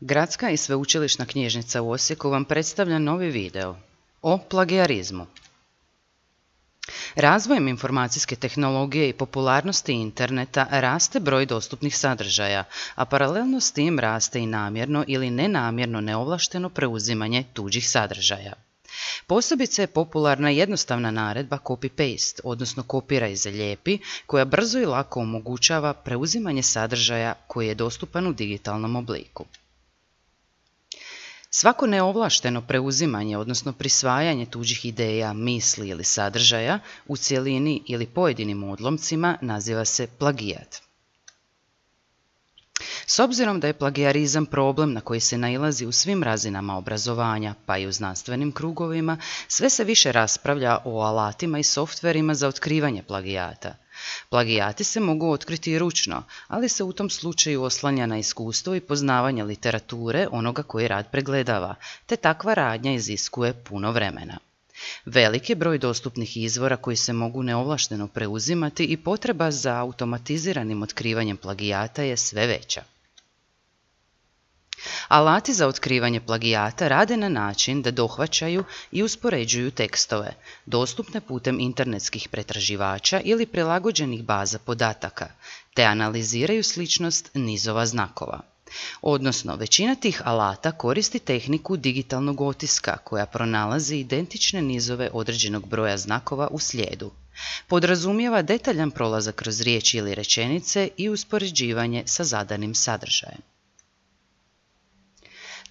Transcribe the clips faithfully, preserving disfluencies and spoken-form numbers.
Gradska i sveučilišna knjižnica u Osijeku vam predstavlja novi video o plagijarizmu. Razvojem informacijske tehnologije i popularnosti interneta raste broj dostupnih sadržaja, a paralelno s tim raste i namjerno ili nenamjerno neovlašteno preuzimanje tuđih sadržaja. Posebice je popularna jednostavna naredba copy-paste, odnosno kopiraj i zalijepi, koja brzo i lako omogućava preuzimanje sadržaja koji je dostupan u digitalnom obliku. Svako neovlašteno preuzimanje, odnosno prisvajanje tuđih ideja, misli ili sadržaja u cjelini ili pojedinim odlomcima naziva se plagijat. S obzirom da je plagijarizam problem na koji se nailazi u svim razinama obrazovanja, pa i u znanstvenim krugovima, sve se više raspravlja o alatima i softverima za otkrivanje plagijata. Plagijati se mogu otkriti i ručno, ali se u tom slučaju oslanja na iskustvo i poznavanje literature onoga koji rad pregledava, te takva radnja iziskuje puno vremena. Velik je broj dostupnih izvora koji se mogu neovlašteno preuzimati i potreba za automatiziranim otkrivanjem plagijata je sve veća. Alati za otkrivanje plagijata rade na način da dohvaćaju i uspoređuju tekstove, dostupne putem internetskih pretraživača ili prilagođenih baza podataka, te analiziraju sličnost nizova znakova. Odnosno, većina tih alata koristi tehniku digitalnog otiska koja pronalazi identične nizove određenog broja znakova u slijedu. Podrazumijeva detaljan prolazak kroz riječi ili rečenice i uspoređivanje sa zadanim sadržajem.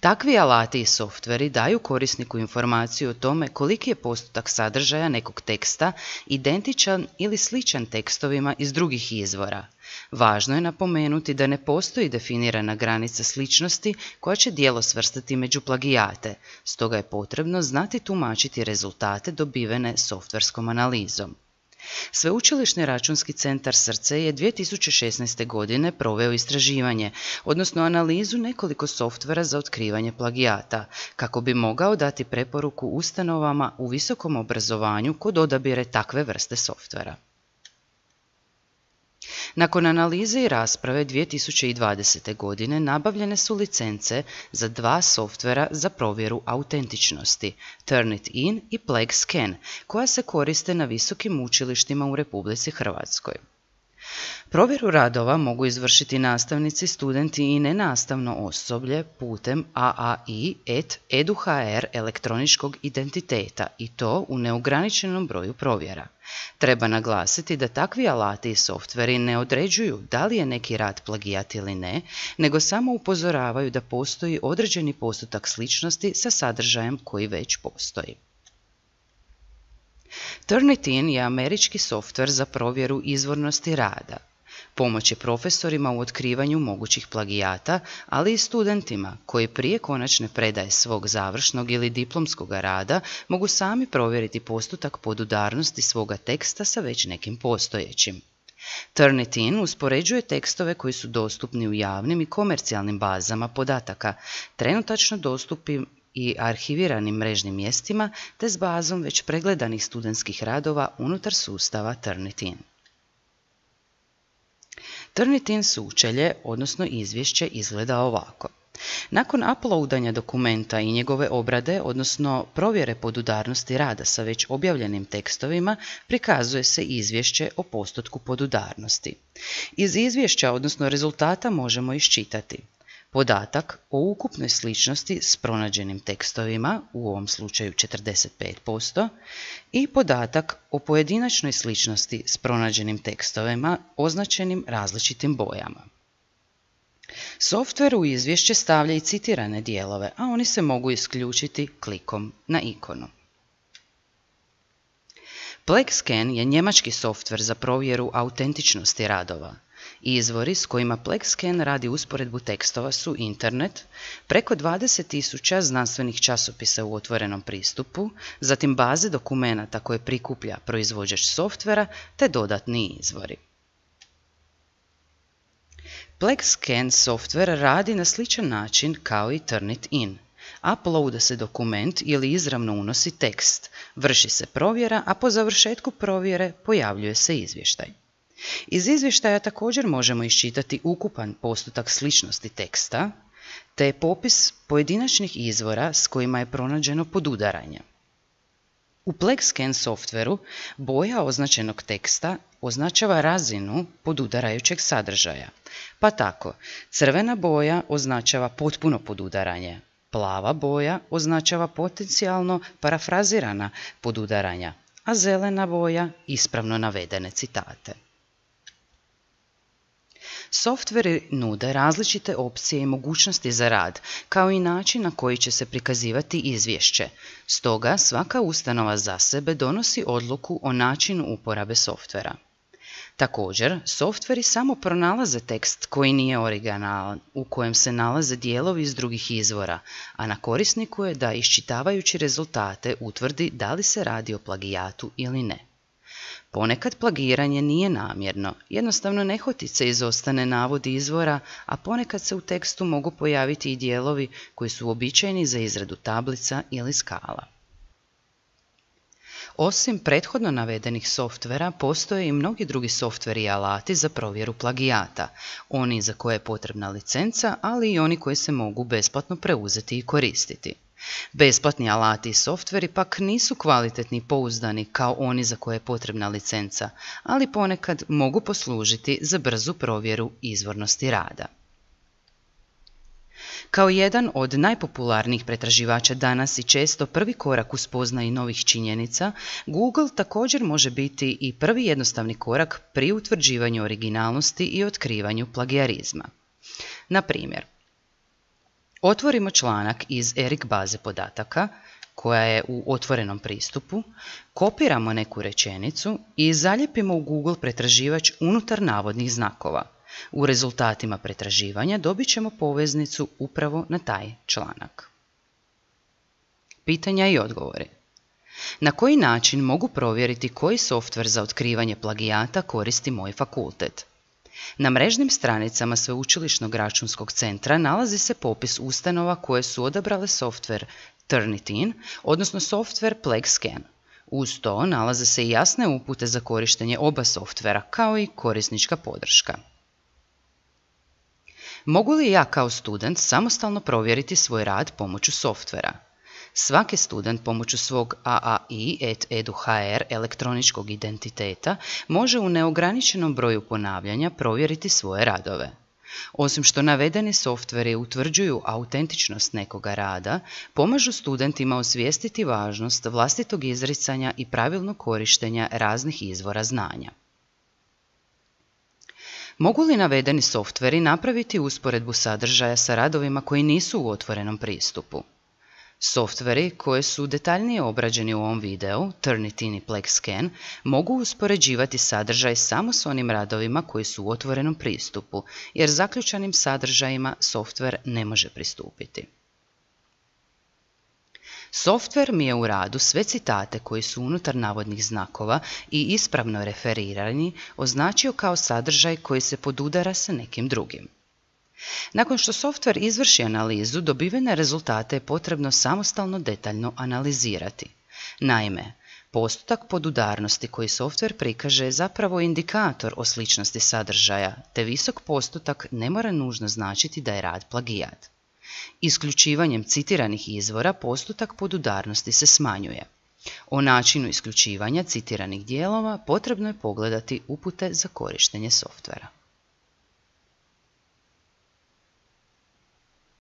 Takvi alati i softveri daju korisniku informaciju o tome koliki je postotak sadržaja nekog teksta identičan ili sličan tekstovima iz drugih izvora. Važno je napomenuti da ne postoji definirana granica sličnosti koja će djelo svrstati među plagijate, stoga je potrebno znati tumačiti rezultate dobivene softverskom analizom. Sveučilišni računski centar Srce je dvije tisuće šesnaeste. godine proveo istraživanje, odnosno analizu nekoliko softvera za otkrivanje plagijata, kako bi mogao dati preporuku ustanovama u visokom obrazovanju kod odabire takve vrste softvera. Nakon analize i rasprave dvije tisuće dvadesete. godine nabavljene su licence za dva softvera za provjeru autentičnosti, Turnitin i PlagScan, koja se koriste na visokim učilištima u Republici Hrvatskoj. Provjeru radova mogu izvršiti nastavnici, studenti i nenastavno osoblje putem a a i et edu ha er elektroničkog identiteta i to u neograničenom broju provjera. Treba naglasiti da takvi alati i softveri ne određuju da li je neki rad plagijat ili ne, nego samo upozoravaju da postoji određeni postotak sličnosti sa sadržajem koji već postoji. Turnitin je američki softver za provjeru izvornosti rada. Pomoć je profesorima u otkrivanju mogućih plagijata, ali i studentima koji prije konačne predaje svog završnog ili diplomskog rada mogu sami provjeriti postotak podudarnosti svoga teksta sa već nekim postojećim. Turnitin uspoređuje tekstove koji su dostupni u javnim i komercijalnim bazama podataka, trenutačno dostupnim i arhiviranim mrežnim mjestima, te s bazom već pregledanih studentskih radova unutar sustava Turnitin. Turnitin sučelje, odnosno izvješće, izgleda ovako. Nakon uploadanja dokumenta i njegove obrade, odnosno provjere podudarnosti rada sa već objavljenim tekstovima, prikazuje se izvješće o postotku podudarnosti. Iz izvješća, odnosno rezultata, možemo iščitati podatak o ukupnoj sličnosti s pronađenim tekstovima, u ovom slučaju četrdeset pet posto, i podatak o pojedinačnoj sličnosti s pronađenim tekstovima označenim različitim bojama. Softver u izvješće stavlja i citirane dijelove, a oni se mogu isključiti klikom na ikonu. PlagScan je njemački softver za provjeru autentičnosti radova. Izvori s kojima PlagScan radi usporedbu tekstova su internet, preko dvadeset tisuća znanstvenih časopisa u otvorenom pristupu, zatim baze dokumenata koje prikuplja proizvođač softvera te dodatni izvori. PlagScan softver radi na sličan način kao i Turnitin. Uploada se dokument ili izravno unosi tekst, vrši se provjera, a po završetku provjere pojavljuje se izvještaj. Iz izvještaja također možemo iščitati ukupan postotak sličnosti teksta, te popis pojedinačnih izvora s kojima je pronađeno podudaranje. U PlegScan softveru boja označenog teksta označava razinu podudarajućeg sadržaja, pa tako crvena boja označava potpuno podudaranje, plava boja označava potencijalno parafrazirana podudaranja, a zelena boja ispravno navedene citate. Softveri nude različite opcije i mogućnosti za rad, kao i način na koji će se prikazivati izvješće. Stoga svaka ustanova za sebe donosi odluku o načinu uporabe softvera. Također, softveri samo pronalaze tekst koji nije originalan, u kojem se nalaze dijelovi iz drugih izvora, a na korisniku je da iščitavajući rezultate utvrdi da li se radi o plagijatu ili ne. Ponekad plagiranje nije namjerno, jednostavno nehotice izostane navodi izvora, a ponekad se u tekstu mogu pojaviti i dijelovi koji su uobičajeni za izradu tablica ili skala. Osim prethodno navedenih softvera, postoje i mnogi drugi softveri i alati za provjeru plagijata, oni za koje je potrebna licenca, ali i oni koji se mogu besplatno preuzeti i koristiti. Besplatni alati i softveri pak nisu kvalitetni i pouzdani kao oni za koje je potrebna licenca, ali ponekad mogu poslužiti za brzu provjeru izvornosti rada. Kao jedan od najpopularnijih pretraživača danas i često prvi korak u spoznaji novih činjenica, Google također može biti i prvi jednostavni korak pri utvrđivanju originalnosti i otkrivanju plagijarizma. Na primjer, otvorimo članak iz Eric baze podataka, koja je u otvorenom pristupu, kopiramo neku rečenicu i zalijepimo u Google pretraživač unutar navodnih znakova. U rezultatima pretraživanja dobit ćemo poveznicu upravo na taj članak. Pitanja i odgovori. Na koji način mogu provjeriti koji softver za otkrivanje plagijata koristi moj fakultet? Na mrežnim stranicama Sveučilišnog računskog centra nalazi se popis ustanova koje su odabrale softver Turnitin, odnosno softver PlegScan. Uz to nalaze se i jasne upute za korištenje oba softvera, kao i korisnička podrška. Mogu li ja kao student samostalno provjeriti svoj rad pomoću softvera? Svaki student pomoću svog a a i et edu ha er elektroničkog identiteta može u neograničenom broju ponavljanja provjeriti svoje radove. Osim što navedeni softveri utvrđuju autentičnost nekoga rada, pomažu studentima osvijestiti važnost vlastitog izricanja i pravilnog korištenja raznih izvora znanja. Mogu li navedeni softveri napraviti usporedbu sadržaja sa radovima koji nisu u otvorenom pristupu? Softveri koji su detaljnije obrađeni u ovom videu, Turnitin i PlegScan, mogu uspoređivati sadržaj samo s onim radovima koji su u otvorenom pristupu, jer zaključanim sadržajima softver ne može pristupiti. Softver mi je u radu sve citate koji su unutar navodnih znakova i ispravno referirani označio kao sadržaj koji se podudara sa nekim drugim. Nakon što softver izvrši analizu, dobivene rezultate je potrebno samostalno detaljno analizirati. Naime, postotak podudarnosti koji softver prikaže je zapravo indikator o sličnosti sadržaja, te visok postotak ne mora nužno značiti da je rad plagijat. Isključivanjem citiranih izvora postotak podudarnosti se smanjuje. O načinu isključivanja citiranih dijelova potrebno je pogledati upute za korištenje softvera.